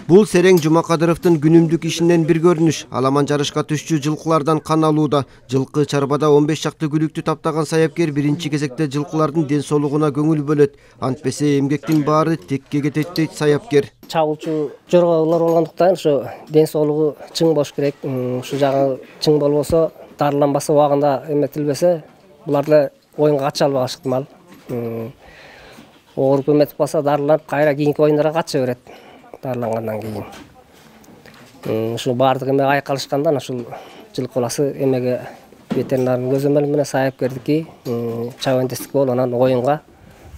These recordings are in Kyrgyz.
Бул Серең Жумакадыровдун күнүмдүк ишинен бир көрүнүш. Аламан жарышка түшчү жылкылардан кан алууда. Жылкы чарбада 15 чакты күлүктү таптаган саяпкер биринчи кезекте жылкылардын ден соолугуна көңүл бөлөт. Антпесе эмгектин баары текке кетет дейт саяпкер. Чабуулчу жоралар болгондуктан ошо ден соолугу чың болуш керек. Ушу жагы чың болбосо, дарыланбаса, убагында эметилбесе, буларды оюнга катыша албагач ыктымал. Ооруп эметип калса, дарыланып, кайра кийинки оюндарга катыша берет. Дарылангандан кийин. Ушу баардык эме айкалышкандан ушул жылкы баласы эмеге ветеринардын көзөмөлү менен саяпкердики чабандестик болуп анан оюнга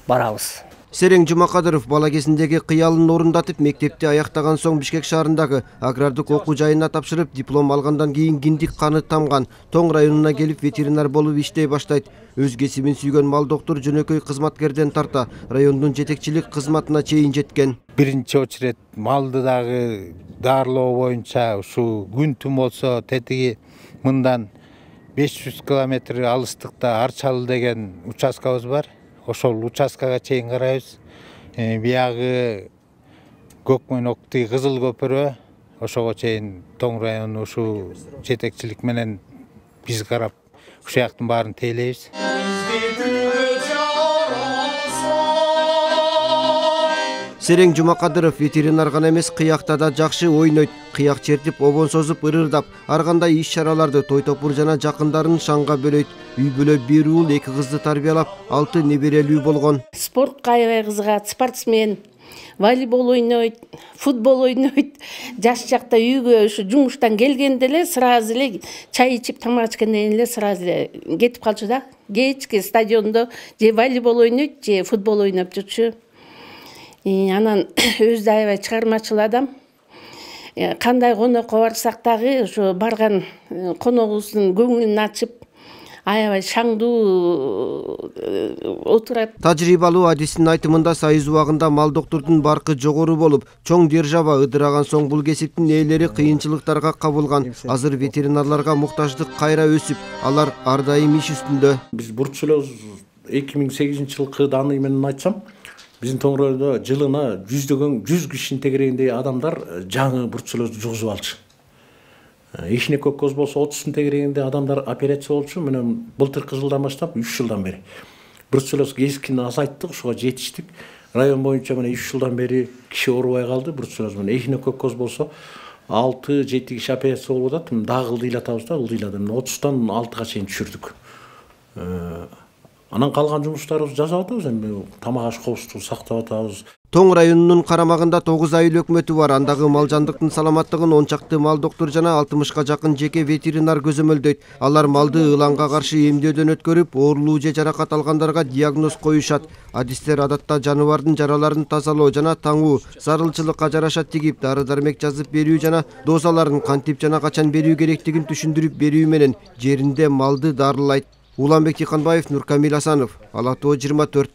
барабыз. Серең Жумакадыров бала кезиндеги кыялын орундатып, мектепти аяктаган соң Бишкек шаарындагы агрардык окуу жайына тапшырып, диплом алгандан кийин киндик каны тамган. Тоң районуна келип ветеринар болуп иштей баштайт. Өз кесибин сүйгөн мал доктур жөнөкөй кызматкерден тарта райондун жетекчилик кызматына чейин жеткен. Биринчи очерет малды дагы дарылоо боюнча ушу күн түн болсо тетиги мындан 500 километр алыстыкта Арчалы деген участкабыз бар. Ошол участкага чейин карайбыз. Биягы Көкмөнөктү Кызыл көпүрө ошого чейин Тоң району ушу жетекчилик менен биз карап ушул жактын баарын тейлейбиз. Серең Жумакадыров ветеринар гана эмес, кыякта да жакшы ойнойт. Кыяк чертип, обон созуп, ырырдап, ар кандай иш-чараларды той топур жана жакындарын шаңга бөлөйт. Үй бүлө бир уул 2 кызды тарбиялап, 6 неберелүү болгон. Спортко аябай кызыгат, спортсмен, волейбол ойнойт, футбол ойнойт. Жаш чакта үйгө ушу жумуштан келгенде эле сразу эле чай ичип, тамак ичкенден кийин эле сразу эле кетип калчу да. Кечки стадиондо же волейбол ойнойт, же футбол ойноп жүрчү. Анан өзү да аябай чыгармачыл адам. Кандай конокко барсак дагы ошо барган коногубуздун көңүлүн ачып, аябай шаңдуу отурат. Тажрыйбалуу адистин айтымында сайыз убагында мал доктурдун баркы жогору болуп, чоң держава ыдыраган соң бул кесиптин ээлери кыйынчылыктарга кабылган. Азыр ветеринарларга муктаждык кайра өсүп, алар ар дайым иш үстүндө. Биз бурчулабыз 2008-жылкы даны менен айтсам, биздин Тоң районунда жылына 100 кишинин тегерегиндеги адамдар жаңы бурчулоозду жугузуп алчу. Ишине көккөз болсо 30 тегерегинде адамдар операция болчу. Менен былтыркы жылдан баштап 3 жылдан бери бурчулоз кескин азайттык, ушуга жетиштик. Район боюнча мына 3 жылдан бери киши оорубай калды бурчулоз менен. Ишине көккөз болсо 6-7 киши операция болуп атат. Дагы ылдыйлатабыз да, ылдыйлады. 30-тан 6-га чейин түшүрдүк. Анан калган жумуштарыбызды жасап атабыз, эми тамак аш коопсуздугун сактап атабыз. Тоң районунун карамагында 9 айыл өкмөтү бар. Андагы мал жандыктын саламаттыгын 10 чакты мал доктур жана 60га жакын жеке ветеринар көзөмөлдөйт. Алар малды ыланга каршы эмдөөдөн өткөрүп, оорулуу же жаракат алгандарга диагноз коюшат. Адистер адатта жаныбардын жараларын тазалоо жана таңуу, зарылчылыкка жараша тигип, дары-дармек жазып берүү жана дозаларын кантип жана качан берүү керектигин түшүндүрүп берүү менен жеринде малды дарылайт. Уланбек Тиканбаев, Нуркамил Асанов, Ала Тоо 24.